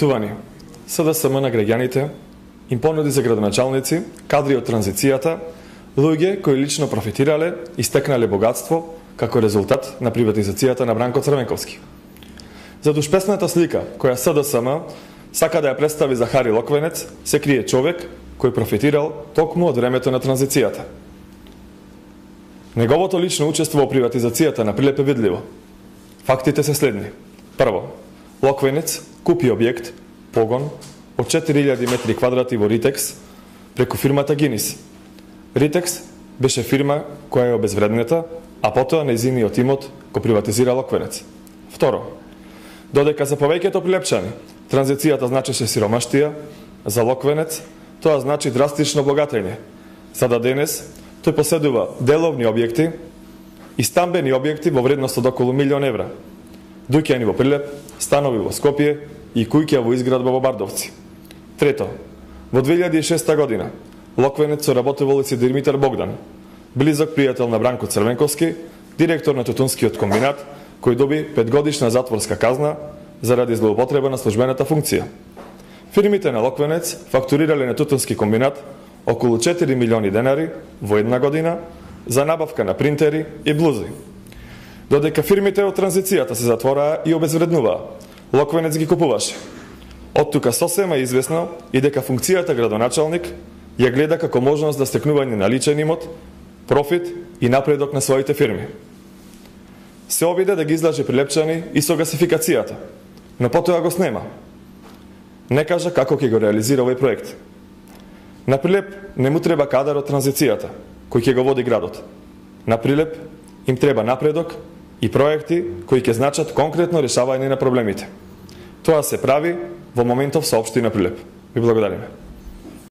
Почитувани, СДСМ на граѓаните им понуди за градоначалници кадри од транзицијата, луѓе кои лично профитирале и стекнале богатство како резултат на приватизацијата на Бранко Црвенковски. За душпесната слика која СДСМ сака да ја представи за Хари Локвенец, се крие човек кој профитирал токму од времето на транзицијата. Неговото лично учество во приватизацијата на Прилеп е видливо. Фактите се следни. Прво, Локвенец купи објект, погон, од 4000 метри квадрати во Ритекс преку фирмата Гинис. Ритекс беше фирма која е обезвреднета, а потоа нејзиниот имот го приватизира Локвенец. Второ, додека за повеќето прилепчани транзицијата значеше сиромаштија, за Локвенец тоа значи драстично богатење. За денес тој поседува деловни објекти и стамбени објекти во вредност од околу 1 милион евра. Дуќани во Прилеп, станови во Скопје и куќа во изградба во Бардовци. Трето, во 2006 година Локвенец соработувал и со Димитар Богдан, близок пријател на Бранко Црвенковски, директор на Тутунскиот комбинат, кој доби 5-годишна затворска казна заради злоупотреба на службената функција. Фирмите на Локвенец фактурирале на Тутунски комбинат околу 4 милиони денари во една година за набавка на принтери и блузи. Додека фирмите од транзицијата се затвораа и обезвреднуваа, Локвенец ги купуваше. Од тука сосема известно и дека функцијата градоначалник ја гледа како можност за стекнување на личен имот, профит и напредок на своите фирми. Се обиде да ги излаже прилепчани и со гасификацијата, но потоа го снема. Не кажа како ќе го реализира овој проект. На Прилеп не му треба кадар од транзицијата, кој ќе го води градот. На Прилеп им треба напредок и проекти кои ќе значат конкретно решавање на проблемите. Тоа се прави во моментов со општина Прилеп. Ви благодариме.